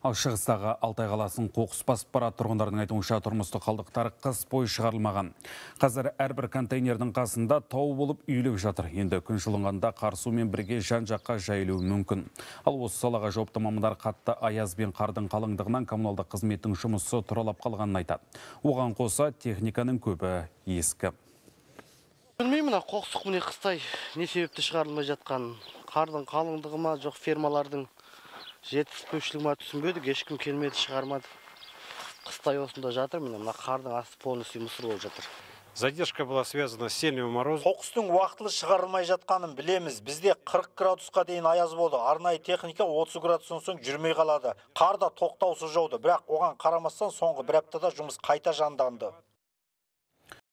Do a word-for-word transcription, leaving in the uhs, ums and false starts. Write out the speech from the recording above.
Ал шығыстағы Алтай қаласын қоқыс басып барады. Тұрғындардың айтуынша тұрмыстық қалдықтар қыс бойы шығарылмаған. Қазір әрбір контейнердің қасында тау болып үйіліп жатыр. Енді күн жылынғанда қар сумен бірге жан жаққа жайылуы мүмкін. Ал осы салаға жауапты мамандар қатты аяз бен қардың қалыңдығынан коммуналдық қызметтің жұмысы тұралап қалғанын айтады. Оған қоса техниканың көбі ескі. Білмеймін, қоқыс міне қыстай не себепті шығарылмай жатқан. Қардың қалыңдығы ма, жоқ фермалардың жетіспеушілігі ма түсінбедік, ешкім келмеді, шығармады. Қыстай осында жатыр, міне мына қардың асты полностью мұсыр болып жатыр. Задержка была связана с сильным морозом. Қоқыстың уақытылы шығарылмай жатқанын білеміз. Бізде қырық градусқа дейін аяз болды. Арнайы техника отыз градустан соң жүрмей қалады. Қар да тоқтаусыз жауды, бірақ оған қарамастан соңғы бір аптада жұмыс қайта жанданды.